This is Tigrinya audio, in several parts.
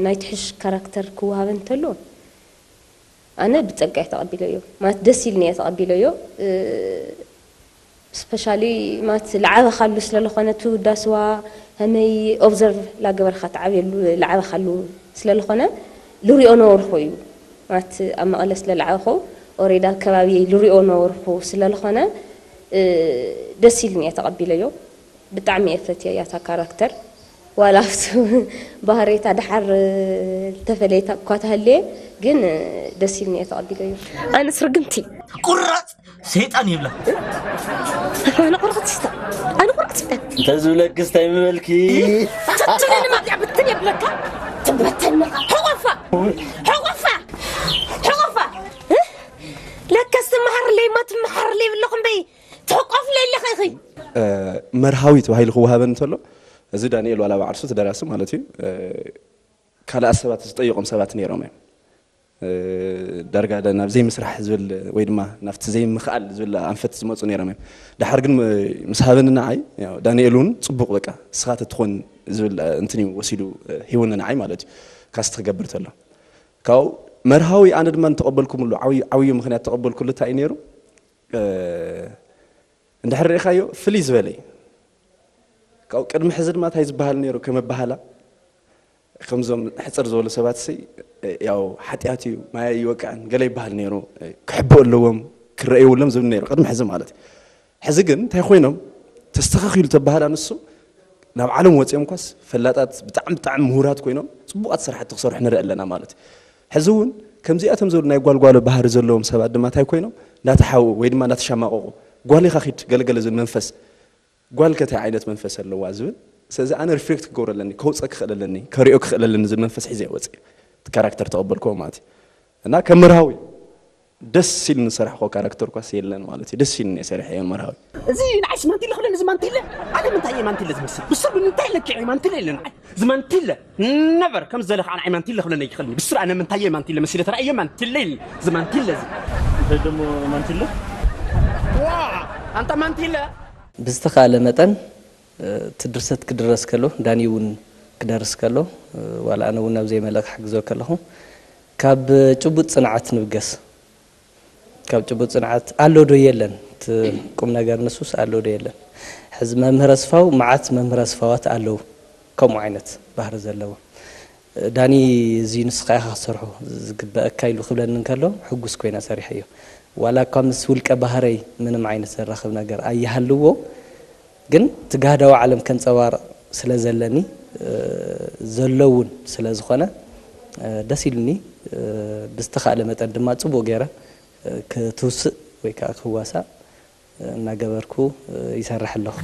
ናይ ትሕሽ ካራክተር ክወሃበ እንተሎ ኣነ ብጸጋ እየ ተቐቢለዮ። ማለት ደስ ኢልኒ እየ ተቐቢለዮ። ስፔሻሊ ማለት ልዓበኻሉ ስለለኾነ እቲ ውዳስዋ ከመይ ኦብዘርቭ ላገበርካ ትዓብየሉ ልዓበኻሉ ስለለኾነ ልሪኦ ነበርኩ እዩ። ማለት ኣብ መቐለ ስለልዓበኹ ኦሬዳ ከባቢ ልሪኦ ነበርኩ ስለለኾነ ደስ ኢልኒ እየ ተቐቢለዮ። ብጣዕሚ እየ ፈትየያ እታ ካራክተር። ዋላ ኣብቲ ባህሬታ ደሓር ተፈለይታ እኳ ተሃልየ ግን ደስ ኢልኒ እየ ተቐቢለዮ። ኣነስ ርግምቲ ቁራፅ ሰይጣን ይብላ። ኣነ ቁራፅ ስታ ኣነ ቁራፅ ስታ እንተ ዝብለክስ እንታይ ምበልኪ? ተትልኒ ማጥያ ብትን የብለካ። ትበተንኻ ሕቆፋ ሕቆፋ ሕቆፋ። ለከስ ትመሃርለይ ማ ትመሃርለይ ብለኹም በይ ትሕቆፍለይ ኣለኺ ኢኺ። መርሃዊ ተባሂሉ ክወሃበን እንተሎ፣ እዚ ዳንኤል ዋላ ባዕርሱ ተደራሲ ማለት እዩ። ካልኣት ሰባት ዝጠይቖም ሰባት ነይሮም እዮም። ዳርጋ ናብ ዘይምስራሕ ዝብል ወይ ድማ ናብቲ ዘይምኽኣል ዝብል ኣንፈት ዝመፁ ነይሮም እዮም። ድሓር ግን ምስ ሃበኒ ንዓይ፣ ያው ዳንኤል እውን ፅቡቕ በቃ ንስኻ ተትኾን ዝብል እንትን እዩ ወሲዱ ሂቡኒ ንዓይ ማለት እዩ። ካስት ክገብር ተሎ ካብኡ መርሃዊ ኣነ ድማ እንተቐበልኩምሉ ዓብዩ ዓብዩ ምኽንያት ተቐበልኩሉ እንታይ እዩ ነይሩ? እንድሕር ርኢኻዮ ፍልይ ዝበለ እዩ። ካብኡ ቅድሚ ሕዚ ድማ እንታይ ዝበሃል ነይሩ ከም ኣበሃላ ከምዞም ሕፅር ዝበሉ ሰባት ሲ ያው ሓጢኣት እዩ ማይ ይወቅዕን ገለ ይበሃል ነይሩ። ክሕብኡ ኣለዎም ክረእይውሎም ዝብል ነይሩ ቅድሚ ሕዚ ማለት እዩ። ሕዚ ግን እንታይ ኮይኖም ተስተኻኺሉ ተባህላ ንሱ ናብ ዓለም ወፂኦም ኳስ ፈላጣት ብጣዕሚ ብጣዕሚ ምሁራት ኮይኖም ፅቡቃት ስራሕቲ ክሰርሑ ንርኢ ኣለና ማለት እዩ። ሕዚ እውን ከምዚኣቶም ዝበሉ ናይ ጓልጓሎ ባህሪ ዘለዎም ሰባት ድማ እንታይ ኮይኖም እንዳተሓው ወይ ድማ እንዳተሻማቀቁ ጓል ኢኻ ኪድ ገለገለ ዝብል መንፈስ ጓል ከታይ ዓይነት መንፈስ ኣለዋ ዝብል ስለዚ ኣነ ሪፍሌክት ክገብሮ ኣለኒ ከውፀ ክኽእል ኣለኒ ከሪኦ ክኽእል ኣለኒ ዝብል መንፈስ ሒዘ ወፂ ካራክተር ተቐበልክዎ ማለት እዩ እና ከም መርሃዊ ደስ ኢሉ ንሰራሕኮ ካራክተር ኳስ የለን ማለት እዩ ደስ ኢሉ እየ ሰሪሐ እዮም መርሃዊ እዚ ንዓይ ስማንቲለ ክብለኒ እዚ ማንቲለ ኣነ ምንታይ እየ ማንቲለ ዝመስል ብስሩ እንታይ ለኪዐ ማንቲለ ኢለ ንዓይ እዚ ማንቲለ ነበር ከም ዘለካ ንዓይ ማንቲለ ክብለኒ ኣይክኽእልን ብስሩ ኣነ ምንታይ እየ ማንቲለ መሲለ ተራእየ ማንቲለ ኢለ እዚ ማንቲለ እዚ እንታይ ደሞ ማንቲለ ዋ ኣንታ ማንቲለ ብዝተኻእለ መጠን እቲ ድርሰት ክድረስ ከሎ ዳኒ እውን ክደርስ ከሎ ዋላ ኣነ እውን ኣብ ዘይመልእ ክሕግዞ ከለኹ ካብ ጭቡጥ ፅንዓት ንብገስ ካብ ጭቡጥ ፅንዓት ኣሎ ዶ የለን እቲ ቁም ነገር ንሱስ ኣሎ ዶ የለን ሕዚ መምህር ኣስፋው መዓት መምህር ኣስፋዋት ኣለዉ ከምኡ ዓይነት ባህሪ ዘለዎም ዳኒ እዚ ንስኻ ኢኻ ክትሰርሖ ዝግበአካ ኢሉ ክብለኒ እንከሎ ሕጉስ ኮይነ ሰሪሐዮ ዋላ እኳ ምስ ውልቀ ባህረይ ምንም ዓይነት ዘራኽብ ነገር ኣይሃልዎ ግን እቲ ጋህዳዊ ዓለም ከንፀባርቕ ስለ ዘለኒ ዘሎ እውን ስለ ዝኾነ ደስ ኢሉኒ ብዝተኻእለ መጠን ድማ ፅቡቕ ገይረ ክትውስእ ወይ ከዓ ክዋሳእ እናገበርኩ ይሰርሕ ኣለኹ።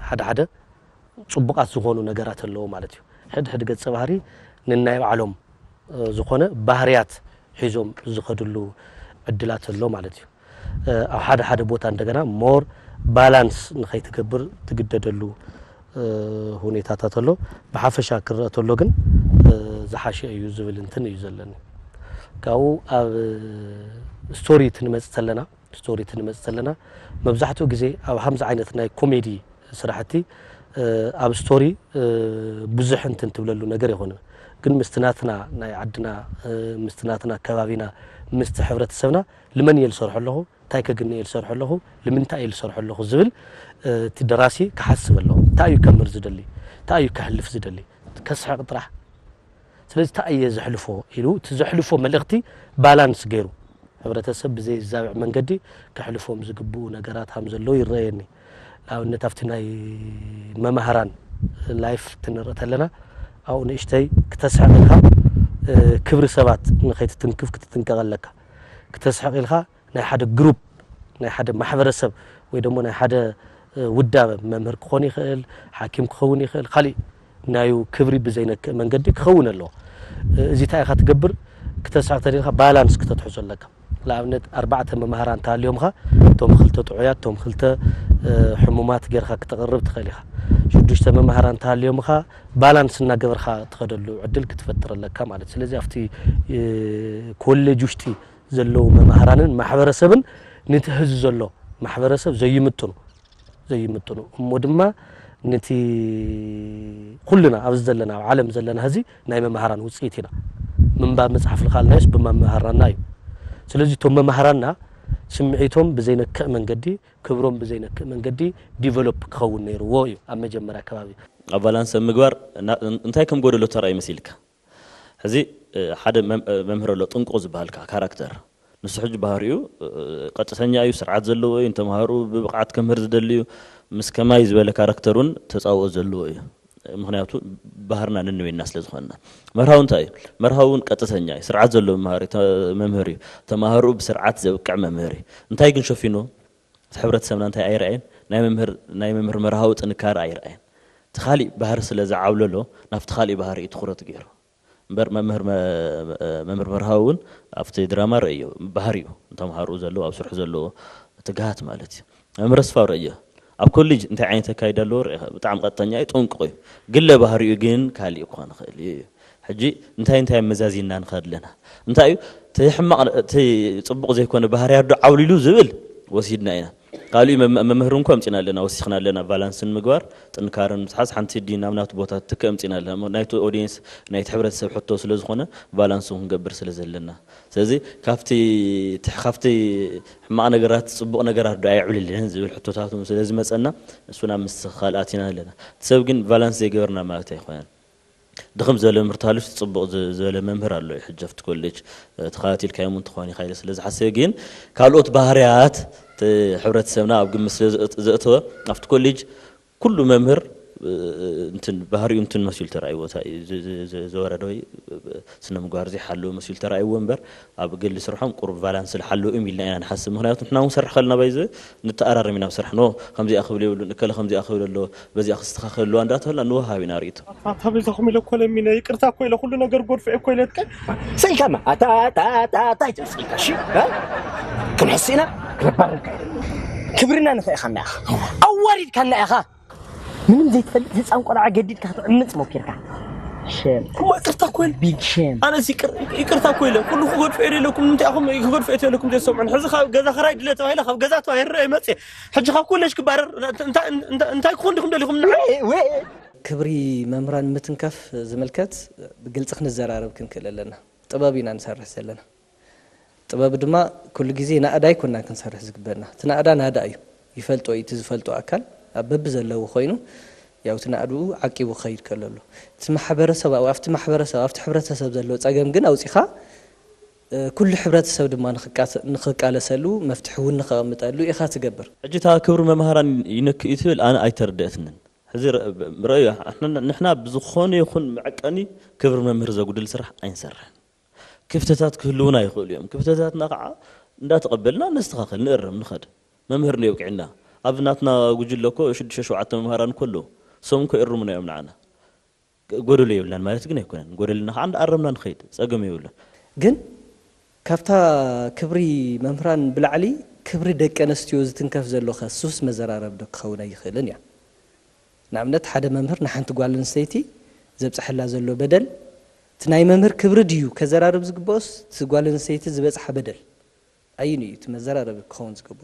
ሓደ ሓደ ፅቡቓት ዝኾኑ ነገራት ኣለዎ ማለት እዩ። ሕድ ሕድ ገፀ ባህሪ ንናይ ባዕሎም ዝኾነ ባህርያት ሒዞም ዝኸድሉ ዕድላት ኣሎ ማለት እዩ። ኣብ ሓደ ሓደ ቦታ እንደገና ሞር ባላንስ ንኸይትገብር ትግደደሉ ሁኔታታት ኣሎ። ብሓፈሻ ክረአ ተሎ ግን ዝሓሸ እዩ ዝብል እንትን እዩ ዘለኒ። ካብኡ ኣብ ስቶሪ ትንመፅ ተለና ስቶሪ ትንመፅ ዘለና መብዛሕትኡ ግዜ ኣብ ሃምዚ ዓይነት ናይ ኮሜዲ ስራሕቲ ኣብ ስቶሪ ብዙሕ እንትን ትብለሉ ነገር ይኮነ ግን ምስቲ ናትና ናይ ዓድና ምስቲ ናትና ከባቢና ምስቲ ሕብረተሰብና ልመን እየ ዝሰርሖ ኣለኹ እንታይ ከግኒ እየ ዝሰርሖ ኣለኹ ልምንታይ እየ ዝሰርሖ ኣለኹ ዝብል እቲ ደራሲ ክሓስብ ኣለዎ እንታይ እዩ ከምር ዝደሊ እንታይ እዩ ከሕልፍ ዝደሊ ከስሕቕ ጥራሕ ስለዚ እንታይ እየ ዘሕልፎ ኢሉ እቲ ዘሕልፎ መልእኽቲ ባላንስ ገይሩ ሕብረተሰብ ብዘይዛብዕ መንገዲ ከሕልፎም ዝግብኡ ነገራት ሃም ዘለዉ ይረኣየኒ። ንኣብነት ኣብቲ ናይ መማህራን ላይፍ ትንርኢ ተለና ኣብኡ ንእሽተይ ክተስሕቕ ኢልካ ክብሪ ሰባት ንኸይትትንክፍ ክትጥንቀቕ ኣለካ። ክተስሕቕ ኢልካ ናይ ሓደ ግሩፕ ናይ ሓደ ማሕበረሰብ ወይ ደሞ ናይ ሓደ ውዳበ መምህር ክኾን ይኽእል፣ ሓኪም ክኸውን ይኽእል፣ ካሊእ ናዩ ክብሪ ብዘይነክእ መንገዲ ክኸውን ኣለዎ። እዚ እንታይ ኢኻ ትገብር? ክተስሕቕ ተደሊኻ ባላንስ ክተትሕዞ ኣለካ። ንኣብነት ኣርባዕተ መማህራን እንተሃልዮምኻ፣ እቶም ክልተ ጥዑያት፣ እቶም ክልተ ሕሙማት ጌርካ ክተቕርብ ትኽእል ኢኻ። ሽዱሽተ መማህራን እንተሃልዮምኻ፣ ባላንስ እናገበርካ ትኸደሉ ዕድል ክትፈጥር ኣለካ ማለት። ስለዚ ኣብቲ ኮሌጅ ውሽጢ ዘለዉ መማህራንን ማሕበረሰብን ንቲ ህዚ ዘሎ ማሕበረሰብ ዘይምጥኑ ዘይምጥኑ እሞ ድማ ነቲ ኩልና ኣብዚ ዘለና ኣብ ዓለም ዘለና ህዚ ናይ መማህራን ውፅኢት ኢና። ምንባብ መፅሓፍ ልካልናዮስ ብመማህራንና እዩ። ስለዚ እቶም መማህራንና ስምዒቶም ብዘይነክእ መንገዲ፣ ክብሮም ብዘይነክእ መንገዲ ዲቨሎፕ ክኸውን ነይርዎ እዩ ኣብ መጀመርያ ከባቢ። ኣብ ባላንስ ኣብ ምግባር እንታይ ከም ጎደሎ ተራእዩ መሲልካ? ሕዚ ሓደ መምህር ኣሎ ጥንቁቕ ዝበሃል ካራክተር። ንሱ ሕጂ ባህሪኡ ቀጥተኛ እዩ፣ ስርዓት ዘለዎ እዩ፣ ንተምሃሩ ብብቕዓት ከምህር ዝደሊ እዩ። ምስ ከማይ ዝበለ ካራክተር እውን ተፃውኦ ዘለዎ እዩ። ምክንያቱ ባህርና ንንበይና ስለ ዝኾንና። መርሃዊ እንታይ እዩ? መርሃዊ እውን ቀጥተኛ እዩ፣ ስርዓት ዘለዎ መምህር እዩ። ተምሃሩ ብስርዓት ዘብቅዕ መምህር እዩ። እንታይ ግን ሸፊኑ? እቲ ሕብረተሰብና እንታይ ኣይረኣየን? ናይ መምህር ናይ መምህር መርሃዊ ጥንካረ ኣይረኣየን። እቲ ካሊእ ባህሪ ስለ ዝዓብለሎ ናብቲ ካሊእ ባህሪ እዩ ትኹረት ገይሩ። እምበር መምህር መምህር መርሃዊ እውን ኣብቲ ድራማ ረእዮ ባህሪኡ ንተምሃርኡ ዘለዎ ኣብ ስርሑ ዘለዎ ትግሃት ማለት እዩ። መምህር ኣስፋው ረእዮ ኣብ ኮሌጅ እንታይ ዓይነት ኣካይዳ ኣለዎ ርኢኻ፣ ብጣዕሚ ቀጥተኛ እዩ፣ ጥንቁቕ እዩ። ግለ ባህሪኡ ግን ካሊእ ክኾን ይኽእል እዩ። ሕጂ እንታይ እንታይ መዛዚና ንኸድ ኣለና? እንታይ እዩ እቲ ሕማቕ እቲ ጽቡቕ ዘይኮነ ባህርያት ዶ ዓብሊሉ ዝብል ወሲድና ኢና። ካልእ መምህር እንኳ ኣምጺና ኣለና፣ ወሲኽና ኣለና። ባላንስን ምግባር ጥንካረን ምትሓዝ ሓንቲ ዲ ናብ ናቱ ቦታ ትከ ኣምጺና ኣለና። ናይቲ ኦዲየንስ ናይቲ ሕብረተሰብ ሕቶ ስለ ዝኾነ ባላንስ ክንገብር ስለ ዘለና። ስለዚ ካብቲ ካብቲ ሕማቕ ነገራት ጽቡቕ ነገራት ዶ ኣየዕብልልን ዝብል ሕቶታት ስለ ዝመጸና እሱና ምስ ካልኣት ኢና ኣለና። እቲ ሰብ ግን ባላንስ ዘይገበርና ማለት ኣይኮነን። ድኽም ዝበለ መምህር ተሃልዩስ ጽቡቕ ዝበለ መምህር ኣሎ እዩ። ሕጂ ኣብቲ ኮሌጅ ተኸታቲልካዮም እውን ትኾን ኢኻ ኢለ ስለ ዝሓሰበ ግን ካልኦት ባህርያት ሕብረተሰብና ኣብ ግምት ስለ ዘእተወ ኣብቲ ኮሌጅ ኩሉ መምህር እንትን ባህሪኡ እንትን መሲሉ ተራእይዎ ዝወረደ ወይ ስነ ምግባር ዘይሓለወ መሲሉ ተራእይዎ እምበር ኣብ ገሊ ስርሖም ቁሩብ ቫላንስ ዝሓለዉ እዮም ኢልና ኢና ንሓስብ። ምክንያቱ ንሕና እውን ንሰርሕ ከለና ባይዘ ንተኣራረም ኢና ኣብ ስራሕ ኖ ከምዚኣ ክብል የብሉን እከለ ከምዚኣ ክብል ኣለዎ በዚኣ ክስተኻኸል ኣለዋ እንዳተበልና ንወሃብ ኢና ርእይቶ። ኣታ በይዛኹም ኢለ እኮ ለሚነ ይቅርታ እኮ ኢለ ኩሉ ነገር ጎድፈ እኮ ኢለትከ። ስኢልካማ ኣታ ኣታ ኣታ ኣታ ይትብል ስኢልካ እሺ ክንሕስ ኢና። ክነባርካ ክብርና ንኽእኻና ኢኻ ኣዋሪድካና ኢኻ። ምንም ዘይትፈልጥ ህፃን ቆልዓ ገዲድካ ክትዕምፅ ሞኪርካ። ሸም እሞ ይቅርታ እኮ ኢለ ቢግ ሸም። ኣነስ ይቅር- ይቅርታ እኮ ኢለ ኩሉ ክገድፎ ኢለ ኢለኩም ንምንታይ ኢኹም ክገድፎ ኢለ ኢለኩም ዘይሰምዑን? ሕዚ ካብ ገዛ ክራይ ድለ ተባሂለ ካብ ገዛ ተባሂረ ይመፅእ። ሕጂ ካብ ኮሌጅ ክባረር እንታይ- እንታይ- እንታይ ክኾን ዲኹም ደሊኹም ንዓይ? ክብሪ መምህራን ምትንካፍ ዝምልከት ብግልፂ ክንዘራረብ ክንክእል ኣለና። ጥበብ ኢና ንሰርሕ ዘለና። ጥበብ ድማ ኩሉ ግዜ ናእዳ ኣይኮናን ክንሰርሕ ዝግበና። እቲ ናእዳ ናዳ እዩ። ይፈልጦ እዩ እቲ ዝፈልጦ ኣካል ኣብ በቢ ዘለዎ ኮይኑ ያው እቲ ናእድኡ ዓቂቡ ክኸይድ ከሎ ኣሎ። እቲ ማሕበረሰብ ኣብቲ ማሕበረሰብ ኣብቲ ሕብረተሰብ ዘሎ ፀገም ግን ኣውፂኻ ኩሉ ሕብረተሰብ ድማ ንኽቃለሰሉ መፍትሒ እውን ንኸቐምጠሉ ኢኻ ትገብር። ሕጂ እታ ክብሪ መምሃራን ይነክእ እዩ ትብል ኣነ ኣይተረደአትንን። ሕዚ ረእዮ ንሕና ብዝኾነ ይኹን መዐቀኒ ክብሪ መምህር ዘጉድል ስራሕ ኣይንሰርሕን። ክፍተታት ክህልውና ይኽእሉ እዮም። ክፍተታትና ከዓ እንዳተቐበልና ነስተኻኸል፣ ንእረም፣ ንኸድ። መምህር ንየብቅዕና ኣብ ናትና ጉጅለ እኮ ሽዱሽተ ሸውዓተ መምሃራን እኮ ኣለዉ። እሶም እኮ ይእርሙና እዮም ንዓና። ጎደሎ የብልናን ማለት ግን ኣይኮነን። ጎደልና ከዓ እንዳኣረምና ንኸይድ፣ ጸገም የብሉን። ግን ካብታ ክብሪ መምህራን ብላዕሊ ክብሪ ደቂ ኣንስትዮ ዝትንከፍ ዘሎ ከ ሱስ መዘራረቢ ዶ ክኸውን ኣይኽእልን እያ? ንኣብነት ሓደ መምህር ንሓንቲ ጓል ኣንስተይቲ ዘብፀሐላ ዘሎ በደል እቲ ናይ መምህር ክብሪ ድዩ ከዘራርብ ዝግበኦስ እቲ ጓል ኣንስተይቲ ዝበፅሓ በደል ኣዩን እዩ እቲ መዘራረቢ ክኸውን ዝግብኦ?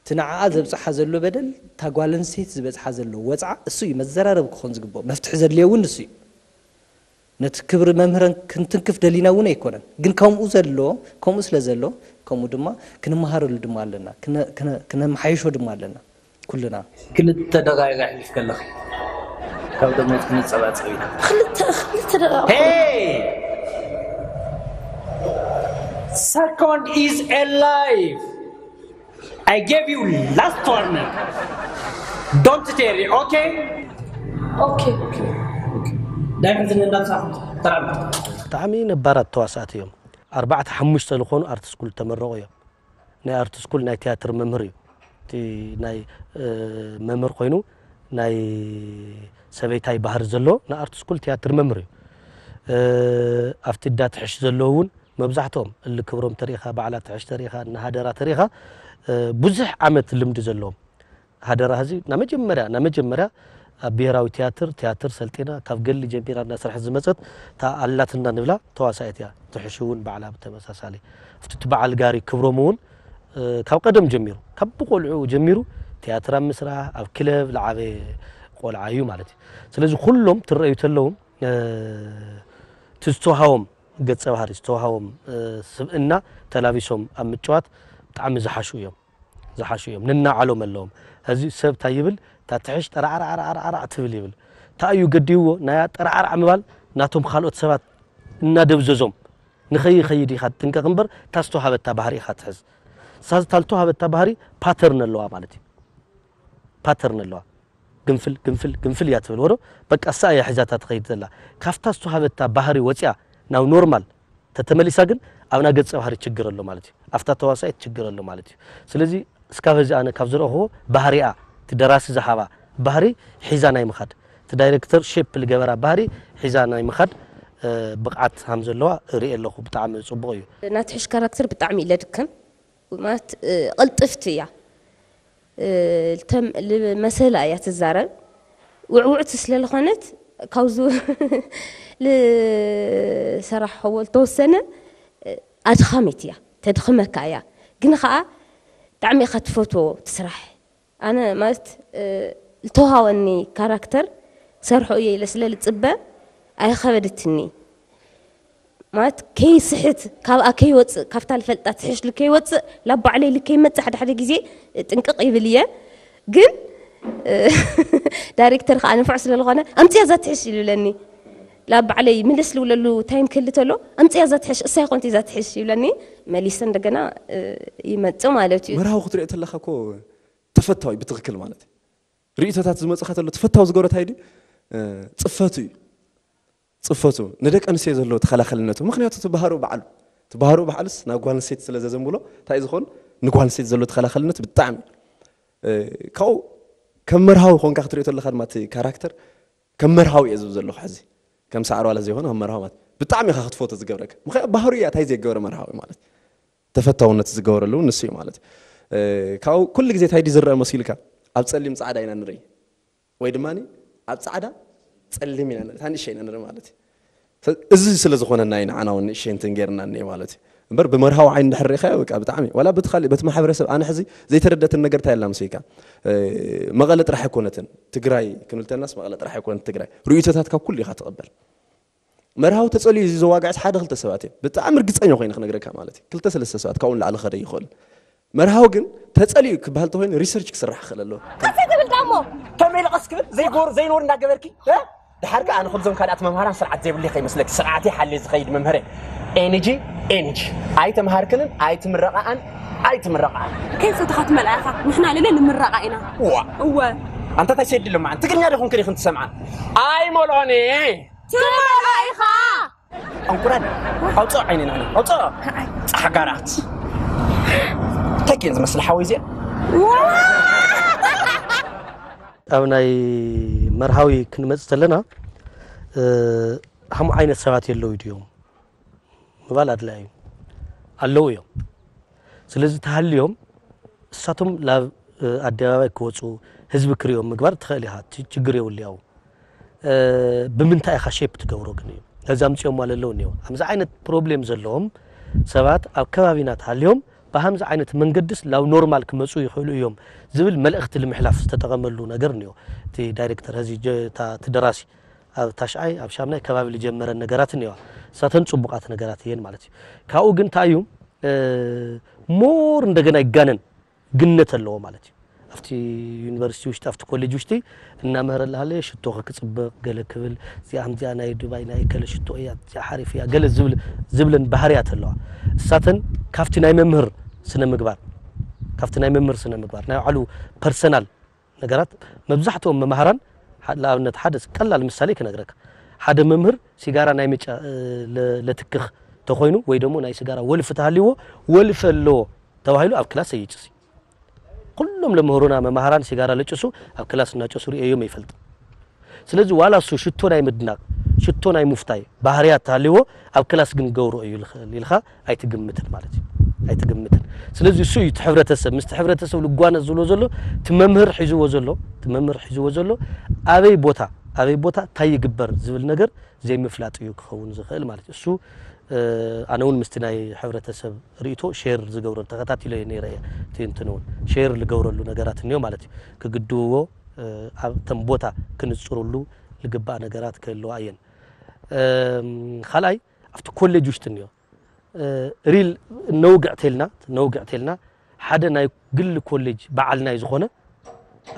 እቲ ንዓኣ ዘብፅሓ ዘሎ በደል እታ ጓል ኣንስተይቲ ዝበፅሓ ዘሎ ወፅዓ እሱ እዩ መዘራረቢ ክኾን ዝግብኦ። መፍትሒ ዘድልዮ እውን ንሱ እዩ። ነቲ ክብሪ መምህረን ክንትንክፍ ደሊና እውን ኣይኮነን። ግን ከምኡ ዘሎ ከምኡ ስለ ዘሎ ከምኡ ድማ ክንመሃረሉ ድማ ኣለና። ክነመሓይሾ ድማ ኣለና። ኩልና ክልተ ደቃይቅ ኣሕሊፍ ከለኺ ካብ ደሞት ክንጸባጸብ ኢና። ክልተ ክልተ ደቃይቅ Hey! Second is a life. I gave you last warning. Don't tarry, okay? Okay. ዳይመንድ እንዳምጻኹም ተራም ብጣዕሚ ነባራት ተዋሳእቲ እዮም። ኣርባዕተ ሓሙሽተ ዝኾኑ ኣርት ስኩል ተመረቑ እዮም። ናይ ኣርት ስኩል ናይ ቲያትር መምህር እዩ። እቲ ናይ መምህር ኮይኑ ናይ ሰበይታይ ባህሪ ዘለዎ ናይ ኣርት ስኩል ቲያትር መምህር እዩ። ኣብቲ ዳትሕሽ ዘለዎ እውን መብዛሕትኦም እሊ ክብሮም ተሪኢኻ፣ በዓል ኣትሕሽ ተሪኢኻ፣ እነ ሃደራ ተሪኢኻ፣ እ፣ ብዙሕ ዓመት ልምዲ ዘለዎም። ሃደራ ህዚ ናይ መጀመርያ፣ ናይ መጀመርያ ኣብ ብሄራዊ ትያትር፣ ትያትር ሰልጢና፣ ካብ ገሊ ጀሚራ እናሰርሐት ዝመጸት፣ እታ ኣላትና ንብላ ተዋሳኢት እያ። ትሕሽ እውን ባዕላ ብተመሳሳሊ። ኣብቲ እቲ በዓል ጋሪ ክብሮም እውን፣ እ፣ ካብ ቀደም ጀሚሩ፣ ካብ ብቆልዑ ጀሚሩ ትያትር ኣብ ምስራሕ፣ ኣብ ክለብ ዝዓበየ ቆልዓ እዩ ማለት እዩ። ስለዚ ኩሎም ትረኣዩ ተለዉ፣ እ፣ እቲ ዝተውሃቦም ገጸ ባህሪ፣ ዝተውሃቦም፣ እ፣ ስብእና ተላቢሶም ኣብ ምጭዋት ብጣዕሚ ዝሓሹ እዮም። ዝሓሹ እዮም። ንናዓሎም ኣለዎም። እዚ ሰብ እንታይ ይብል? እታ ትሕሽ ጠራዕራዕራዕራዕ ትብል ይብል። እንታይ እዩ ገዲዎ? ናይ ኣጠራዕራዕ ምባል ናቶም ካልኦት ሰባት እናደብዘዞም ንኸይኸይድ ኢኻ ትጥንቀቕ እምበር፣ እታ ዝተውሃበታ ባህሪ ኢኻ ትሕዝ። እሳ እታ ዝተውሃበታ ባህሪ ፓተርን ኣለዋ ማለት እዩ። ፓተርን ኣለዋ። ግንፍል፣ ግንፍል፣ ግንፍል እያ ትብል። ወዶ በቃ እሳ እያ ሒዛታ ትኸይድ ዘላ። ካብታ ዝተውሃበታ ባህሪ ወፂኣ ናብ ኖርማል ተተመሊሳ ግን ኣብና ገጸ ባህሪ ችግር ኣሎ ማለት እዩ። ኣብታ ተዋሳኢት ችግር ኣሎ ማለት እዩ። ስለዚ እስካብ ሕዚ ኣነ ካብ ዝረእኽዎ ባህሪኣ፣ እቲ ደራሲ ዝሃባ ባህሪ ሒዛ ናይ ምኻድ፣ እቲ ዳይሬክተር ሼፕ ዝገበራ ባህሪ ሒዛ ናይ ምኻድ፣ እ፣ ብቕዓት ሃም ዘለዋ እርኢ ኣለኹ። ብጣዕሚ ጽቡቕ እዩ። ናትሕሽ ካራክተር ብጣዕሚ ኢለ ድክም ማለት፣ እ፣ ቅልጥፍቲ እያ። እ፣ ልተም-፣ ልመሰላ እያ ትዛረብ። ውዕውዕቲ ስለ ዝኾነት ካብዙ ልሰራሕዎ ልተወሰነ፣ እ፣ ኣድኻሚት እያ፣ ተድኽመካ እያ። ግን ኸዓ ብጣዕሚ ኢኻ ትፈትዎ ትስራሕ። ኣነ ማለት፣ እ፣ ልተውሃበኒ ካራክተር ክሰርሖ እየ ኢለ ስለ ልጽበ ኣይኸበደትኒ። ማለት ከይስሕት፣ ካብኣ ከይወጽእ፣ ካብታ ልፈልጣ ትሕሽ ልከይወጽእ፣ ላብ ባዕለይ ልከይመጽእ ሓደ ሓደ ግዜ ጥንቅቕ ይብል እየ። ግን፣ እ፣ ዳይሬክተር ከኣ ንፉዕ ስለ ዝኾነ፣ "ኣምጽያ እዛ ትሕሽ" ይብለኒ። ላብ ባዕለይ ምልስ ልብለሉ ታይም ክህሊ ተሎ፣ "ኣምጽያ እዛ ትሕሽ፣ እሳ ይኾንቲ እዛ ትሕሽ" ይብለኒ። መሊሰ እንደገና፣ እ፣ ይመጽእ ማለት እዩ። መርሃዊ ክትሪኦ ተለኻ እኮ ተፈታዊ ብትኽክል ማለት እዩ። ርእይቶታት ዝመጽኻ ተሎ ተፈታዊ ዝገብሮ እንታይ ድዩ? እ፣ ጽፈቱ እዩ። ጽፈቱ፣ ንደቂ ኣንስትዮ ዘለዎ ተኸላኸልነቱ። ምኽንያቱ እቲ ባህሩ በዓሉ፣ እቲ ባህሩ በዓሉስ ናብ ጓል ኣንስተይቲ ስለ ዘዘንብሎ፣ እንታይ ዝኸውን ንጓል ኣንስተይቲ ዘለዎ ተኸላኸልነት ብጣዕሚ። እ፣ ካብኡ ከም መርሃዊ ኮንካ ክትሪኦ ተለኻ ድማ እቲ ካራክተር ከም መርሃዊ እየ ዝብል ዘለኹ ሕዚ። ከም ሳዕሪ ዋላ ዘይኮነ ከም መርሃዊ ማለት ብጣዕሚ ኢኻ ክትፈቶ ዝገብረካ። ምኽንያቱ ባህሩ እያ እንታይ ዘይገበረ መርሃዊ ማለት። ተፈታውነት ዝገበረሉ ንሱ እዩ ማለት እዩ። እ፣ ካብኡ ኩሉ ግዜ እንታይ ድዩ ዝረአ መሲልካ? ኣብ ጸሊም ጻዕዳ ኢና ንርኢ። ወይ ድማ ኣብ ጻዕዳ ጸሊም ኢና ንርኢ፣ እታ ንእሸይ ኢና ንርኢ ማለት እዩ። ሰ-፣ እዚ ስለ ዝኾነና እዩ ንዓና እውን ንእሸይ እንትን ጌርና እኒአ ማለት እዩ። እምበር ብመርሃዊ ዓይኒ እንድሕር ርኢኻዮ፣ በቃ ብጣዕሚ፣ ዋላ በቲ ካልእ፣ በቲ ማሕበረሰብ፣ ኣነ ሕዚ ዘይተረደትን ነገር እንታይ ኣላ መሲልካ? እ፣ መቐለ ጥራሕ ኣይኮነትን ትግራይ ክንብል ተለናስ፣ መቐለ ጥራሕ ኣይኮነትን ትግራይ። ርእይቶታት ካብ ኩሉ ኢኻ ትቕበል። መርሃዊ ተጸልዩ እዚ ዘዋግዕስ ሓደ ክልተ ሰባት እዮም። ብጣዕሚ ርግጸኛ ኮይነ ክነግረካ ማለት እዩ። ክልተ ሰለስተ ሰባት ካብኡ ንላዕሊ ክኸደ ይኽእል። መርሃዊ ግን ተጸልዩ ክበሃል ተኮይኑ ሪሰርች ክስራሕ ክኽእል ኣለዎ። ቀስ ትብል ዳሞ። ከመይ ኢለ ቀስ ክብል? ዘይገበሩ ዘይነውር እንዳገበርኪ፣ እ? ድሓር ከኣ ኣነ ከምዞም ካልኣት መምሃራን ስርዓት ዘይብለይ ከይመስለኪ፣ ስርዓት ይሓልየ ዝኸይድ መምህር እየ። ኤንጂ፣ ኤንጂ። ኣይተምሃርክንን ኣይትምረቓኣን፣ ኣይትምረቓኣን። ከይፈተኻ ትመልኣ ኢኻ። ንሕና ልለ ንምረቓ ኢና። ዋ። እወ። ኣንታ እንታይ ሰዲ ለማዓን? ትግርኛ ዲኹም ከዲኹም ትሰምዓን? ኣይመልኦን እየ። ትመልኦ ኢኻ። ኣንቁራን ኣውፅኦ ዓይነና፣ ኣውፅኦ። ፃሕጋራት። እንታይ ከየን ዝመስል ሓወይ እዚኣ? ኣብ ናይ መርሃዊ ክንመጽ ተለና፣ እ፣ ሃም ዓይነት ሰባት የለዉ ድዮም ምባል ኣድላይ እዩ። ኣለዉ እዮም። ስለዚ ተሃልዮም እሳቶም ላብ፣ እ፣ ኣደባባይ ክወጹ፣ ህዝቢ ክሪኦም ምግባር ትኽእል ኢኻ። እቲ ችግር የብሉ ያው። እ፣ ብምንታይ ኢኻ ሼፕ ትገብሮ ግን እዩ። ነዚ ኣምጺኦምዋ ለለዉ እኒኦ። ከምዚ ዓይነት ፕሮብሌም ዘለዎም ሰባት ኣብ ከባቢና ተሃልዮም ብሃምዚ ዓይነት መንገድስ ላብ ኖርማል ክመጹ ይኽእሉ እዮም ዝብል መልእኽቲ ንምሕላፍ ዝተጠቐመሉ ነገር እኒኦ። እቲ ዳይሬክተር፣ እዚ ጀ-፣ እታ፣ እቲ ደራሲ ኣብ ታሽዓይ፣ ኣብ ሻምናይ ከባቢ ዝጀመረን ነገራት እኒዋ። እሳተን ጽቡቓት ነገራት እየን ማለት እዩ። ካብኡ ግን እንታይ እዩ፣ እ፣ ሞር እንደገና ይጋነን ግነት ኣለዎ ማለት እዩ። ኣብቲ ዩኒቨርሲቲ ውሽጢ፣ ኣብቲ ኮሌጅ ውሽጢ እናመህረ እናሃለየ ሽቶኺ ክጽብቕ ገለ ክብል፣ እዚኣ ከምዚኣ ናይ ዱባይ ናይ ከለ ሽቶ እያ፣ እዚኣ ሓሪፍ እያ፣ ገለ ዝብል፣ ዝብለን ባህርያት ኣለዋ። እሳተን ካብቲ ናይ መምህር ስነ ምግባር፣ ካብቲ ናይ መምህር ስነ ምግባር፣ ናይ ባዕሉ ፐርሰናል ነገራት መብዛሕትኦም መማህራን፣ ሓ-፣ ንኣብነት ሓደ ቀላል ምሳሌ ክነግረካ። ሓደ መምህር ሲጋራ ናይ ምጫ-፣ እ፣ ለ-፣ ለትክኽ ተኾይኑ ወይ ደሞ ናይ ሲጋራ ወልፊ ተሃልይዎ፣ ወልፊ ኣለዎ ተባሂሉ ኣብ ክላስ ኣይጭስ እዩ። ኩሎም ለምህሩና መማህራን ሲጋራ ለጭሱ ኣብ ክላስ እናጨሱ ርእየዮም ኣይፈልጥን። ስለዚ ዋላ እሱ ሽቶ ናይ ምድናቕ፣ ሕቶ ናይ ምፍታይ ባህርያት ተሃልይዎ ኣብ ክላስ ግን ገብሮ እዩ ዝኽእል ኢልካ ኣይትግምትን ማለት እዩ። ኣይትግምትን። ስለዚ እሱ እዩ እቲ ሕብረተሰብ፣ ምስቲ ሕብረተሰብ ልጓነ ዝብሎ ዘሎ እቲ መምህር ሒዝዎ ዘሎ፣ እቲ መምህር ሒዝዎ ዘሎ ኣበይ ቦታ፣ ኣበይ ቦታ እንታይ ይግበር ዝብል ነገር ዘይምፍላጥ እዩ ክኸውን ዝኽእል ማለት እዩ። እሱ፣ እ፣ ኣነ እውን ምስቲ ናይ ሕብረተሰብ ርእይቶ ሼር ዝገብረሉ፣ ተኸታቲሎ እየ ነይረ እየ። እቲ እንትን እውን ሼር ዝገብረሉ ነገራት እኒኦ ማለት እዩ። ክግድብዎ፣ እ፣ ኣብ ተን ቦታ ክንጽሩሉ ዝግባእ ነገራት ክህልዋ እየን። እም፣ ካልኣይ ኣብቲ ኮሌጅ ውሽጢ እኒኦ፣ እ፣ ሪል ነውግዕ ተልና፣ ነውግዕ ተልና ሓደ ናይ ግል ኮሌጅ በዓል ናይ ዝኾነ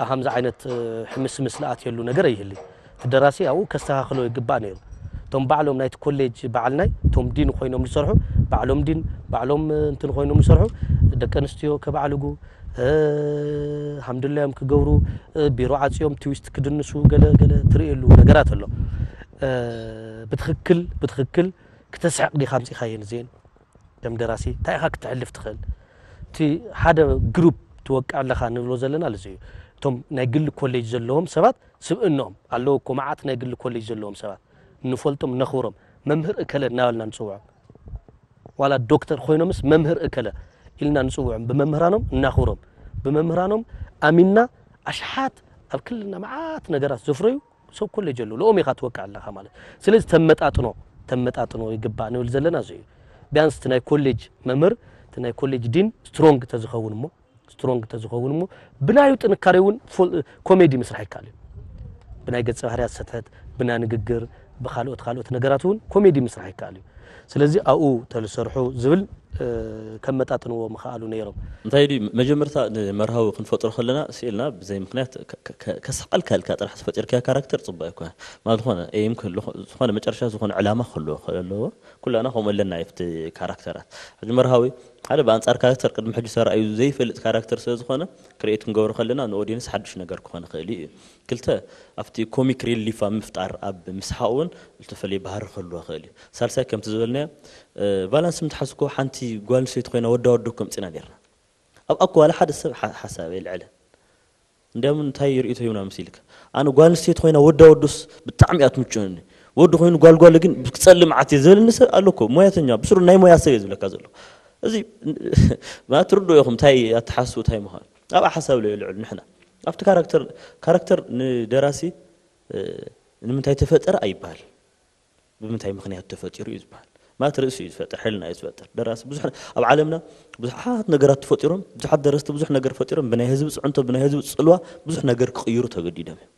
ኣብ ከምዚ ዓይነት፣ እ፣ ሕምስምስ ዝኣትየሉ ነገር ኣይህልይ። እቲ ደራሲ ኣብኡ ከስተኻኽሎ ይግባእ ነይሩ። እቶም ባዕሎም ናይቲ ኮሌጅ በዓል ናይ፣ እቶም ዲን ኮይኖም ዝሰርሑ፣ ባዕሎም ዲን፣ ባዕሎም፣ እ፣ እንትን ኮይኖም ዝሰርሑ፣ ደቂ ኣንስትዮ ከባዕልጉ፣ እ፣ ሃምድላዮም ክገብሩ፣ እ፣ ቢሮ ዓጽዮም ትዊስት ክድንሱ፣ ገለ ገለ ትርእየሉ ነገራት ኣሎ። እ፣ ብትኽክል፣ ብትኽክል ክተስሕቕ ዲኻ ኣምጺኻየን እዚኤን? ከም ደራሲ እንታይ ኢኻ ክተሕልፍ ትኽእል? እቲ ሓደ ግሩፕ ትወቅዕ ኣለኻ ንብሎ ዘለና እዚ እዩ። እቶም ናይ ግል ኮሌጅ ዘለዎም ሰባት ስብእኖም ኣለዉ እኮ፣ መዓት ናይ ግል ኮሌጅ ዘለዎም ሰባት ንፈልጦም፣ ነኽብሮም፣ መምህር እከለ እናበልና ንጽውዖም። ዋላ ዶክተር ኮይኖምስ መምህር እከለ ኢልና ንጽውዖም፣ ብመምህራኖም እናኽብሮም፣ ብመምህራኖም ኣሚንና ኣሽሓት ኣብ ክልልና መዓት ነገራት ዘፍረዩ ሰብ ኮሌጅ ኣለዉ። ልኦም ኢኻ ትወቅዕ ኣለኻ ማለት። ስለዚ ተመጣጥኖ፣ ተመጣጥኖ ይግባእ ንብል ዘለና እዚ እዩ። ቢያንስ እቲ ናይ ኮሌጅ መምህር፣ እቲ ናይ ኮሌጅ ዲን ስትሮንግ ተዝኸውን እሞ፣ ስትሮንግ ተዝኸውን እሞ፣ ብናዩ ጥንካሬ እውን ፎል-፣ ኮሜዲ ምስራሕ ይከኣል እዩ። ብናይ ገጸ ባህርያት ሰትሕት፣ ብናይ ንግግር፣ ብኻልኦት፣ ካልኦት ነገራት እውን ኮሜዲ ምስራሕ ይከኣል እዩ። ስለዚ ኣብኡ ተዝሰርሑ ዝብል፣ እ፣ ከመጣጥንዎ ምኸኣሉ ነይሮም። እንታይ ድዩ፣ መጀመርታ ንመርሃዊ ክንፈጥሮ ከለና ስኢልና ብዘይ ምኽንያት ከ-፣ ከ-፣ ከ-፣ ከስሕቐልካ ኢልካ ጥራሕ ተፈጢርካዮ ካራክተር ጽቡቕ ኣይኮነን። ማለት ዝኾነ ኤም ክህሉ፣ ዝኾነ መጨረሻ ዝኾነ ዕላማ ክህልዎ ክኽእል ኣለዎ። ኩላና ከምኡ ኣለና ኣብቲ ካራክተራት። ሕጂ መርሃዊ ሓደ ብኣንጻር ካራክተር ቅድሚ ሕጂ ተራእዩ ዘይፈልጥ ካራክተር ስለ ዝኾነ ክሪኤት ክንገብሮ ከለና ንኦዲየንስ ሓድሽ ነገር ክኾን ይኽእል እዩ። ክልተ፣ ኣብቲ ኮሚክ ሪሊፍ ኣብ ምፍጣር ኣብ ምስሓቕ እውን ዝተፈለየ ባህሪ ክህልዎ ይኽእል እዩ። ሳልሳይ ከምቲ ዝበልናዮ፣ እ፣ ቫላንስ ምትሓዝኮ ሓንቲ ጓል ኣንስተይቲ ኮይና ወዳ ወዶ ከምጽና ኔርና። ኣብ ኣኮ ዋላ ሓደ ሰብ ሓ-፣ ሓሳብ የልዕልን። እንዲያም እንታይ ርእይቶ ይብና ምስ ኢልካ? ኣነ ጓል ኣንስተይቲ ኮይና ወዳ ወዶስ ብጣዕሚ እያ ትምችወኒ። ወዲ ኮይኑ ጓል ጓል ግን ክጸልእ መዓት እየ ዝብለኒ ሰብ ኣሎ እኮ። ሞያተኛ፣ ብስሩ ናይ ሞያ ሰብ እየ ዝብለካ ዘሎ። እዚ ማለት ትርድኡ ኢኹም እንታይ ኣተሓስቡ እንታይ ምዃኑ። ኣብኣ ሓሳብ ለየልዕሉ ንሕና። ኣብቲ ካራክተር፣ ካራክተር ንደራሲ፣ እ፣ ንምንታይ ተፈጠረ ኣይበሃል። ብምንታይ ምኽንያት ተፈጢሩ እዩ ዝበሃል። ማለት ርእሱ እዩ ዝፈጥር፣ ሕልና እዩ ዝፈጥር። ደራሲ ብዙሕ ነ-፣ ኣብ ዓለምና ብዙሓት ነገራት ተፈጢሮም፣ ብዙሓት ደረስቲ ብዙሕ ነገር ፈጢሮም፣ ብናይ ህዝቢ ጽዕንቶ፣ ብናይ ህዝቢ ጽልዋ ብዙሕ ነገር ክቕይሩ ተገዲዶም እዮም።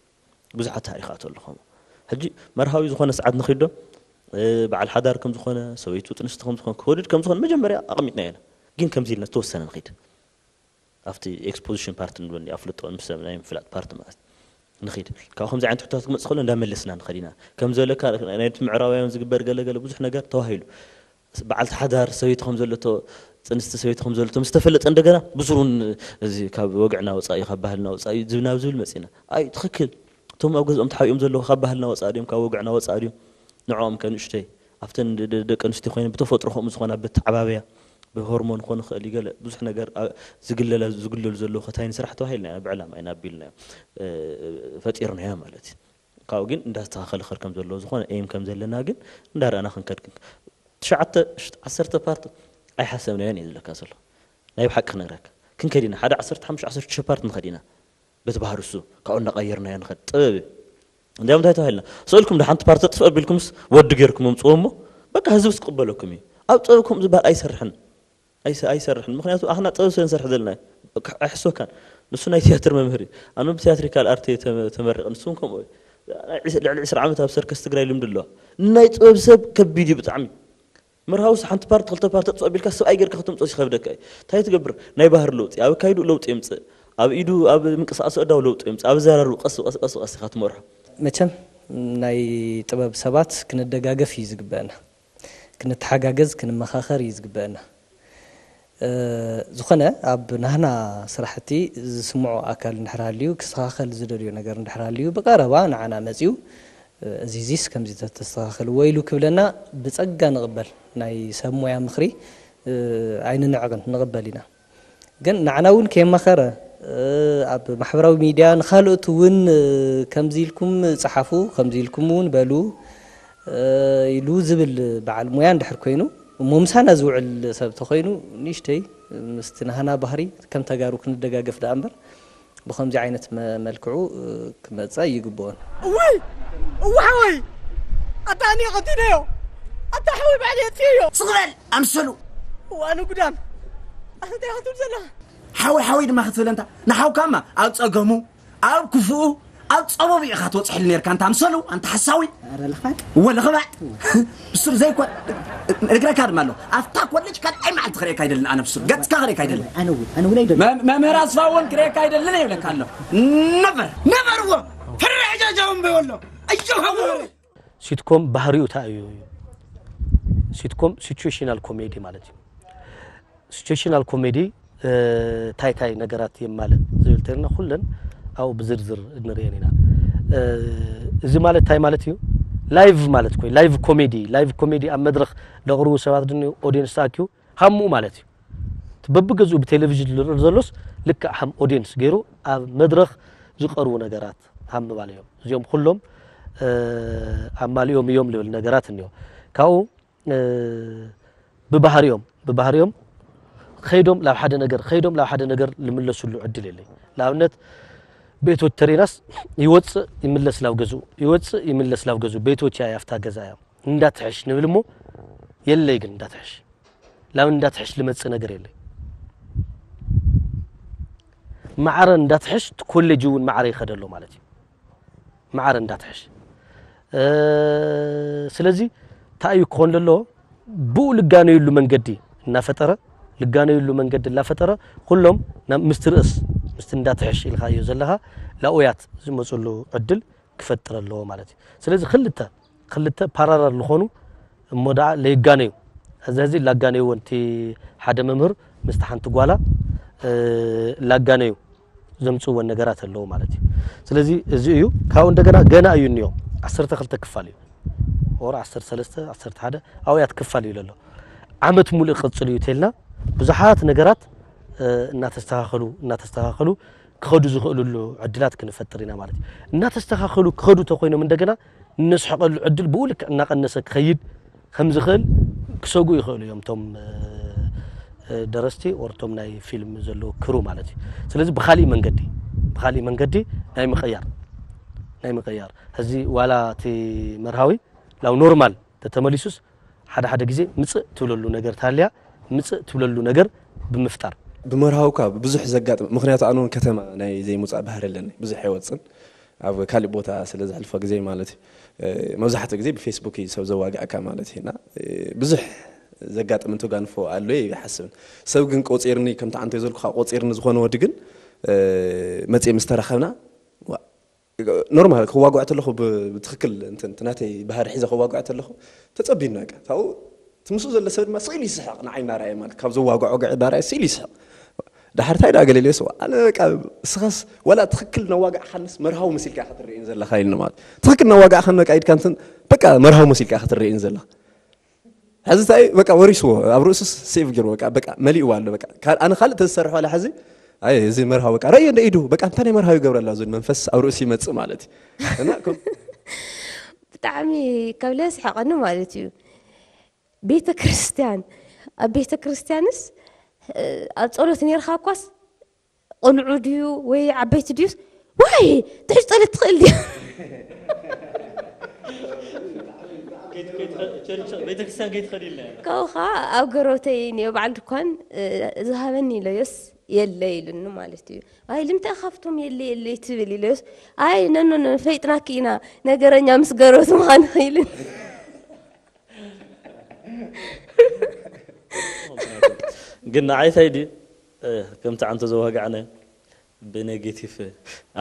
ብዙሓት ታሪኻት ኣሎ ከምኡ። ሕጂ መርሃዊ ዝኾነ ሰዓት ንኺድ ዶ፣ እ፣ በዓል ሓዳር ከም ዝኾነ፣ ሰበይቱ ጥንስቲ ከም ዝኾነ፣ ክወድድ ከም ዝኾነ መጀመርያ ኣቐሚጥና ኢና። ግን ከምዚ ኢልና ዝተወሰነ ንኺድ። ኣብቲ ኤክስፖዚሽን ፓርት ንብሎ እንዲ ኣፍልጦ ምስ ሰብ ናይ ምፍላጥ ፓርት ማለት ንኺድ። ካብ ከምዚ ዓይነት ሕቶታት ክመጽእ ከሎ እንዳመለስና ንኸድ ኢና። ከም ዘለካ ናይቲ ምዕራባውያን ዝግበር ገለ ገለ ብዙሕ ነገር ተባሂሉ። በዓልቲ ሓዳር ሰበይቲ ከም ዘለቶ፣ ጽንስቲ ሰበይቲ ከም ዘለቶ ምስ ተፈለጠ እንደገና ብስሩን እዚ ካብ ወግዕና ወጻኢ፣ ካብ ባህልና ወጻኢ ዝብ-፣ ናብ ዝብል መጺና። ኣይ ትኽክል። እቶም ኣብ ገዝኦም ተሓቢኦም ዘለዉ ካብ ባህልና ወጻኢ ድዮም፣ ካብ ወግዕና ወጻኢ ድዮም? ንዕኦም ከ ንእሽተይ ኣብተን ደ-፣ ደ-፣ ደቂ ኣንስትዮ ኮይነን ብተፈጥሮ ከምኡ ዝኾና በተዓባብያ ብሆርሞን ክኾን ይኽእል እዩ፣ ገለ ብዙሕ ነገር ኣ-፣ ዝግለላ-፣ ዝግለሉ ዘለዉ ከታይን ስራሕ ተባሂልና ኢና፣ ብዕላማ ኢና ኣቢልናዮ፣ እ፣ ፈጢርናዮ ማለት እዩ። ካብኡ ግን እንዳስተኻኸለ ክኸድ ከም ዘለዎ ዝኾነ ኤም ከም ዘለና ግን እንዳረኣና ክንከድ ክን-፣ ትሽዓተ፣ ዓሰርተ ፓርት ኣይሓሰብናዮን እዩ ዝብለካ ዘሎ። ናይ ብሓቂ ክነግረካ። ክንከድ ኢና። ሓደ ዓሰርተ ሓሙሽተ ዓሰርተ ሽዱሽተ ፓርት ንኸድ ኢና። በቲ ባህሪ እሱ ካብኡ እንዳቐየርናዮ ንኸድ። ጥበብ እዩ። እንዲያም እንታይ ተባሂልና? ስእልኩም ዶ ሓንቲ ፓርት ተጥፍእ ኣቢልኩምስ ወዲ ጌርኩም ኣምጽዎ እሞ በቃ ህዝብስ ክቕበለኩም እዩ። ኣብ ጥበብ ከምኡ ዝበሃል ኣይሰርሕን። ኣይሰ-፣ ኣይሰርሕን። ምኽንያቱ ኣኽና ጥበብ ስለ ንሰርሕ ዘለና እዩ። በቃ ኣይሕስወካን። ንሱ ናይ ትያትር መምህር እዩ። ኣነ ብትያትሪካል ኣርት እየ ተመ-፣ ተመሪቐ። ንሱ እውን ከምኡ እዩ። ናይ ዒስ-፣ ልዕሊ ዕስራ ዓመት ኣብ ሰርከስ ትግራይ ልምዲ ኣለዋ። ናይ ጥበብ ሰብ ከቢድ እዩ ብጣዕሚ። መርሃውስ ሓንቲ ፓርት ክልተ ፓርት ተጥፍእ ኣቢልካ ሰብኣይ ጌርካ ከተምጽኦ ይኸብደካ እዩ። እንታይ ትገብር? ናይ ባህሪ ለውጢ፣ ኣብ ኣካይድኡ ለውጢ የምጽእ። ኣብ ኢዱ፣ ኣብ ምንቅስቃስ ኣእዳው ለውጢ የምጽእ። ኣብ ኣዘራርብኡ ቀስ ብቐስ፣ ቀስ ብቐስ ኢኻ ትመርሖ። መቸም ናይ ጥበብ ሰባት ክንደጋገፍ እዩ ዝግበአና። ክንተሓጋገዝ፣ ክንመኻኸር እዩ ዝግበአና። እ፣ ዝኾነ ኣብ ናህና ስራሕቲ ዝስምዖ ኣካል እንድሕር ሃልዩ፣ ክስተኻኸል ዝደልዮ ነገር እንድሕር ሃልዩ፣ ብቐረባ ንዓና መጺኡ፣ እ፣ እዚ፣ እዚስ ከምዚ ተተስተኻኸልዎ ኢሉ ክብለና ብጸጋ ንቕበል። ናይ ሰብ ሞያ ምኽሪ፣ እ፣ ኣይንንዕቕን፣ ንቕበል ኢና። ግን ንዓና እውን ከየማኸረ፣ እ፣ ኣብ ማሕበራዊ ሚድያ ንኻልኦት እውን፣ እ፣ ከምዚ ኢልኩም ጸሓፉ፣ ከምዚ ኢልኩም እውን በሉ፣ ኢሉ ዝብል በዓል ሞያ እንድሕር ኮይኑ፣ እሞ ምሳና ዝውዕል ሰብ ተኾይኑ፣ ንእሽተይ ምስቲ ናህና ባህሪ ከም ተጋሩ ክንደጋገፍ ደኣ እምበር፣ ብኸምዚ ዓይነት መ-፣ መልክዑ ክመጽእ ኣይግብኦን። እዋይ! እዋ ሓወይ! ኣታ ኣነ ቀቲለዮ! ኣታ ሓወይ ባዕለይ ኣጥፍኤዮ! ስቕ በል ኣምሰሉ! እዋኑ ጉዳም! ኣታ እንታይ ክትብል ዘለኻ? ሓወይ ሓወይ ድማ ክትብል ኣንታ ንሓውካማ ኣብ ጸገሙ ኣብ ክፉኡ ኣብ ጸበቡ ኢኻ ትወጽሐሉ ኔርካ ኣንታ ኣምሰሉ ኣንታ ሓሳዊ። ኧረ ልኽባጥ። እወ ልኽባጥ። ብሱር ዘይኮን እግረካ ድማ ኣሎ ኣብታ ኮሌጅ ካልኣይ መዓልቲ ክርእየካ ኣይደልን ኣነ ብሱር ገጽካ ክርእየካ ኣይደልን። ኣነ እውን ኣነ እውን ኣይደልን። መምህር ኣስፋ እውን ክርእየካ ኣይደልን ይብለካ ኣሎ። ነበር ነበር እዎ። ፍርሕ ጃጃውን በይወሎ። ኣዮ ሃወረ። ሲትኮም ባህሪኡ እንታይ እዩ? ሲትኮም ሲቹዌሽናል ኮሜዲ ማለት እዩ። ሲቹዌሽናል ኮሜዲ እንታይ እንታይ ነገራት የማልእ ዝብል ተልና ኩለን ኣብኡ ብዝርዝር እንርእየን ኢና። እዚ ማለት እንታይ ማለት እዩ? ላይቭ ማለት ኮይ ላይቭ ኮሜዲ ላይቭ ኮሜዲ ኣብ መድረኽ ለቕርቡ ሰባት ድንኡ ኦዲየንስ ተኣኪቡ ሃምኡ ማለት እዩ። እቲ በብገዝኡ ብቴሌቪዥን ዝርእ ዘሎስ ልክዕ ሃም ኦዲየንስ ገይሩ ኣብ መድረኽ ዝቐርቡ ነገራት ሃም ምባል እዮም። እዚኦም ኩሎም ኣማሊኦም እዮም ልብል ነገራት እኒኦ። ካብኡ ብባህሪኦም ብባህሪኦም ከይዶም ላብ ሓደ ነገር ከይዶም ላብ ሓደ ነገር ልምለሱሉ ዕድል የለይ። ንኣብነት ቤቶት ተሬናስ ይወፅእ ይምለስ ላብ ገዝኡ ይወፅእ ይምለስ ላብ ገዝኡ ቤቶት እያ ያፍታ ገዛ እያ። እንዳትሕሽ ንብል እሞ የለይ ግን እንዳትሕሽ ላብ እንዳትሕሽ ልመፅእ ነገር የለይ። ማዕረ እንዳትሕሽ ኮሌጅ እውን ማዕረ ይኸደሎ ማለት እዩ። ማዕረ እንዳትሕሽ ስለዚ እንታይ እዩ ክኾን ለሎ ብኡ ልጋነየሉ መንገዲ እናፈጠረ ልጋነየሉ መንገዲ እናፈጠረ ኩሎም ናብ ምስቲ ርእስ ምስቲ እንዳትሕሽ ኢልካዮ ዘለኻ ላኡያት ዝመፅሉ ዕድል ክፈጥር ኣለዎ ማለት እዩ። ስለዚ ክልተ ክልተ ፓራላል ዝኾኑ እሞ ደኣ ለይጋነዩ እዚ ሕዚ ላጋነይዎ እቲ ሓደ መምህር ምስቲ ሓንቲ ጓላ ላጋነዩ ዘምፅእወን ነገራት ኣለዉ ማለት እዩ። ስለዚ እዚ እዩ ካብኡ እንደገና ገና እዩ እኒኦ ዓሰርተ ክልተ ክፋል እዩ ወር ዓሰርተ ሰለስተ ዓሰርተ ሓደ ኣውያት ክፋል እዩ ለሎ ዓመት ሙሉእ ክቕፅል እዩ ተልና ብዙሓት ነገራት እናተስተኻኸሉ እናተስተኻኸሉ ክኸዱ ዝኽእልሉ ዕድላት ክንፈጥር ኢና ማለት እዩ። እናተስተኻኸሉ ክኸዱ ተኮይኖም እንደገና እነስሕቐሉ ዕድል ብኡ ልክዕ እናቐነሰ ክኸይድ ከም ዝኽእል ክሰጉ ይኽእሉ እዮም እቶም ደረስቲ ወርቶም ናይ ፊልም ዘለዉ ክሩ ማለት እዩ። ስለዚ ብካሊእ መንገዲ ብካሊእ መንገዲ ናይ ምቕያር ናይ ምቕያር ሕዚ ዋላ እቲ መርሃዊ ላው ኖርማል ተተመሊሱስ ሓደ ሓደ ግዜ ምፅእ ትብለሉ ነገር ታልያ ምፅእ ትብለሉ ነገር ብምፍጣር ብመርሃውካ ብዙሕ ዘጋጥም ምክንያቱ ኣነ እውን ከተማ ናይ ዘይምውፃእ ባህሪ ኣለኒ ብዙሕ ኣይወፅን ኣብ ካሊእ ቦታ ስለ ዘሕልፎ ግዜ ማለት እዩ። መብዛሕትኡ ግዜ ብፌስቡክ እዩ ሰብ ዘዋግዐካ ማለት እዩ እና ብዙሕ ዘጋጥም እንተጋንፎ ኣሎ ይሓስብን ሰብ ግን ቆፂርኒ ከምቲ ዓንተ ዘልኩካ ቆፂርኒ ዝኾነ ወዲ ግን መፅየ ምስ ተራኸብና ኖርማል ክዋጓዕ ተለኹ ብትክክል ናተይ ባህሪ ሒዘ ክዋጓዕ ተለኹ ተፀቢኑ በቃ ካብኡ እቲ ምስኡ ዘሎ ሰብ ድማ ስኢሉ ይስሕቕ ንዓይ እናረኣየ ማለት ካብ ዘዋግዖ ገዕ እናረኣየ ስኢሉ ይስሕቕ ድሓር ታይ ደኣ ገለልዮስ ኣነ በቃ እስኻስ ወላ ትክክል ነዋጋዕካንስ መርሃዊ መሲልካ ክትርእየን ዘለካ ኢልኒ ማለት ትክክል ነዋጋዕካን በቃ ኢድካ እንትን በቃ መርሃዊ መሲልካ ክትርእየን ዘለካ ሕዚ እንታይ በቃ ወሪስዎ ኣብ ርእሱስ ሴቭ ገይሩ በቃ በቃ መሊእዋ ኣሎ በቃ ኣነ ካልእ ተዝሰርሕ ዋላ ሕዚ ኣይ እዚ መርሃዊ በቃ ረእዮ እንደ ኢዱ በቃ እንታይ ናይ መርሃዊ ይገብረላ ዝብል መንፈስ ኣብ ርእሱ ይመጽእ ማለት እዩ እና ከም ብጣዕሚ ከብለ ስሕቐኒ ማለት እዩ ቤተ ክርስቲያን ኣብ ቤተ ክርስቲያንስ ኣብ ጸሎት ነርካ እኳስ ቆልዑ ድዩ ወይ ዓበይቲ ድዩስ ዋይ ትሕሽ ጸሎት ትኽእል ድዩ ቤተክርስትያን ከይትኸዲ ኢልና ካብኡ ከዓ ኣብ ገሮተይ እኒኦ በዓል ድኳን ዝሃበኒ ኢለዮስ የለ ኢሉኒ ማለት እዩ ኣይ ልምታይ ካብቶም የለ የለ ትብል ኢለዮስ ኣይ ነኖ ፈይጥናኪ ኢና ነገረኛ ምስ ገሮት ምዃን ኢሉኒ ግን ንዓይ ታይ ድዩ ከምቲ ዓንቶ ዘዋጋዕናዮ ብኔጌቲቭ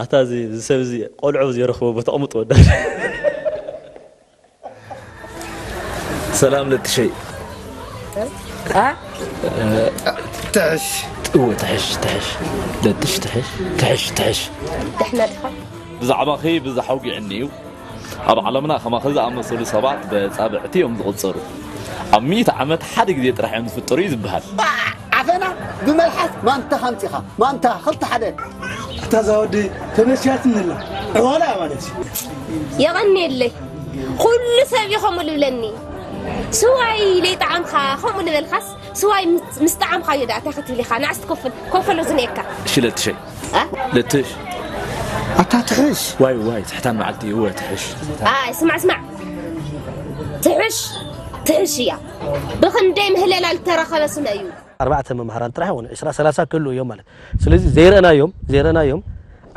ኣታ እዚ ሰብ እዚ ቆልዑ ዝየረኽቦ ቦታ ቅምጥ ወዳ ሰላም ለጥሸይ ትሕሽ እወ ትሕሽ ትሕሽ ለጥሽ ትሕሽ ትሕሽ ትሕሽ ድሕነትኻ ብዛዕባኺ ብዝሕ ኣውጊዕኒ እዩ ኣብ ዓለምና ከማኺ ዝኣመሰሉ ሰባት በጻብዕቲ እዮም ዝቕጸሩ ኣብ ሚእቲ ዓመት ሓደ ግዜ ጥራሕ እዮም ዝፍጠሩ እዩ ዝበሃል ዓፈና ብመልሓስ ማንታ ካምፂኻ ማንታ ክልተ ሓደ እታ ዛወዲ ተመሲያትኒ ኣላ ዕዋላ ማለት እዩ የቐንየለይ ኩሉ ሰብ እዩ ከምኡ ልብለኒ። ስዋይ ለይጠዓምካ ከምኡ ልበልካስ፣ ስዋይ ምስ- ምስ ጠዓምካዮ ደኣ እንታይ ክትብል ኢኻ? ንኣስ ትከፍል ኮፈሎ ዝንኤካ። ሽለትሸይ እ? ለትሽ ኣታ ትሕሽ። ዋይ ዋይ ትሕታን መዓልቲ እወ ትሕሽ። ኣይ ስማዕ ስማዕ፣ ትሕሽ ትሕሽ እያ። ብኽንደይ ምህለላ ልተረኸበ ስለ እዩ። ኣርባዕተ መምሃራን ጥራሕ ይኾኑ ዕስራ ሰላሳ ክህሉ እዮም ማለት። ስለዚ ዘይረእናዮም ዘይረእናዮም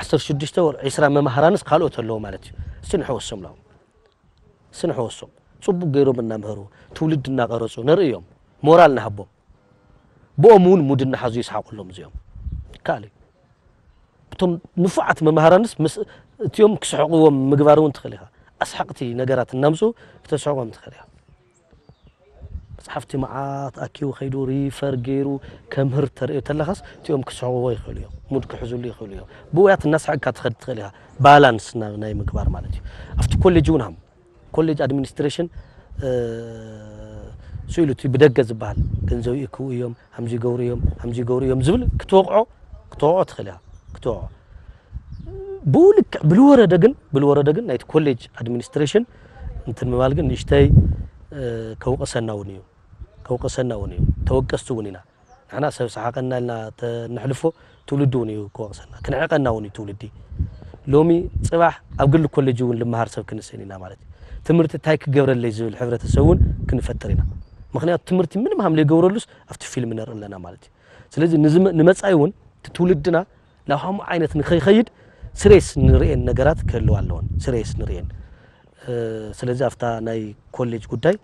ዓሰርተ ሽዱሽተ ወር ዕስራ መምሃራንስ ካልኦት ኣለዎ ማለት እዩ። እስቲ ንሕወሶም ላው ስንሕወሶም ጽቡቅ ገይሮም እናምህሩ ትውልድ እናቀረጹ ነርእዮም። ሞራል ንሃቦም። ብኦም እውን ሙድ እናሓዙ ይስሓቁሎም እዚኦም። ካልእ እቶም ንፉዓት መምሃራንስ ምስ እቲኦም ክስሕቅዎም ምግባር እውን ትኽእል ኢኻ። ኣስሓቅቲ ነገራት እናምፁ ክተስሕቆም ትኽእል ኢኻ። መፅሓፍቲ መዓት ኣኪቡ ከይዱ ሪፈር ገይሩ ከምህር ተርእዮ ተለኻስ እቲኦም ክስሕቅዎ ይኽእሉ እዮም። ሙድ ክሕዙሉ ይኽእሉ እዮም። ብውያት እናስሓቅካ ትኸድ ትኽእል ኢኻ። ባላንስ ናይ ምግባር ማለት እዩ። ኣብቲ ኮሌጅ እውን ሃም ኮሌጅ ኣድሚኒስትሬሽን ስኢሉ እቲ ብደገ ዝበሃል ገንዘብ ይእክቡ እዮም፣ ሃምዚ ይገብሩ እዮም፣ ሃምዚ ይገብሩ እዮም ዝብል ክትወቕዖ ክትወቕዖ ትኽእል እያ። ክትወቕዖ ብኡ ልክዕ ብልወረደ ግን ብልወረደ ግን ናይቲ ኮሌጅ ኣድሚኒስትሬሽን እንትን ምባል ግን ንእሽተይ ከውቀሰና እውን እዩ። ከውቀሰና እውን እዩ። ተወቀስቲ እውን ኢና። ንሕና ሰብ ሰሓቀና ኢልና ተነሕልፎ ትውልዲ እውን እዩ ክወቅሰና። ክንዕቀና እውን እዩ ትውልዲ። ሎሚ ፅባሕ ኣብ ግሊ ኮሌጅ እውን ልመሃር ሰብ ክንስእን ኢና ማለት እዩ። ትምህርቲ እንታይ ክገብረለይ ዝብል ሕብረተሰብ እውን ክንፈጥር ኢና። ምክንያቱ ትምህርቲ ምንም ሃም ዘይገብረሉስ ኣብቲ ፊልም ነርኢ ኣለና ማለት እዩ። ስለዚ ንመፃኢ እውን እቲ ትውልድና ናብ ሃምኡ ዓይነት ንከይኸይድ ስሬስ ንርእየን ነገራት ክህልዋ ኣለወን። ስሬስ ንርእየን። ስለዚ ኣብታ ናይ ኮሌጅ ጉዳይ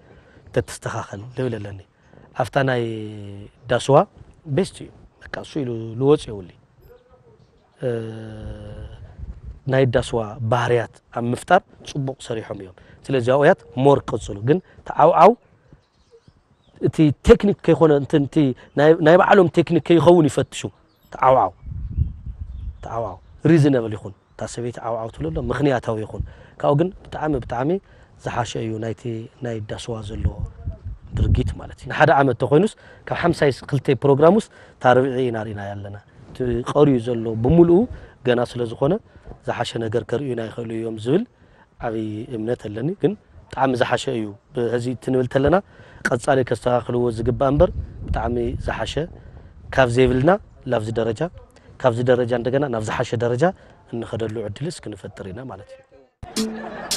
ተትስተኻኸል ልብል ኣለኒ። ኣብታ ናይ ዳስዋ ቤስት እዩ። በቃ እሱ ኢሉ ልወፅ የውሊ ናይ ዳስዋ ባህርያት ኣብ ምፍጣር ፅቡቅ ሰሪሖም እዮም። ስለዚ ኣብያት ሞር ቀፅሉ። ግን ተዓውዓው እቲ ቴክኒክ ከይኮነ እቲ ናይ ባዕሎም ቴክኒክ ከይኸውን ይፈትሹ። ተዓውዓው ተዓውዓው ሪዝነብል ይኹን። እታ ሰበይቲ ዓውዓው ትብሎ ኣሎ ምኽንያታዊ ይኹን። ካብኡ ግን ብጣዕሚ ብጣዕሚ ዝሓሸ እዩ ናይቲ ናይ ዳስዋ ዘሎ ድርጊት ማለት እዩ። ንሓደ ዓመት ተኮይኑስ ካብ ሓምሳይ ክልተ ፕሮግራም ውስጥ እታ ርብዒ ኢና ርኢና ያለና። እቲ ቀርዩ ዘሎ ብምልኡ ገና ስለ ዝኾነ ዝሓሸ ነገር ከርእዩና ይኽእሉ እዮም ዝብል ዓብዪ እምነት ኣለኒ። ግን ብጣዕሚ ዝሓሸ እዩ። ብህዚ ትንብል ተለና ቀጻሊ ከስተኻኽልዎ ዝግባእ እምበር ብጣዕሚ ዝሓሸ ካብ ዘይብልና ላብዚ ደረጃ ካብዚ ደረጃ እንደገና ናብ ዝሓሸ ደረጃ እንኸደሉ ዕድልስ ክንፈጥር ኢና ማለት እዩ።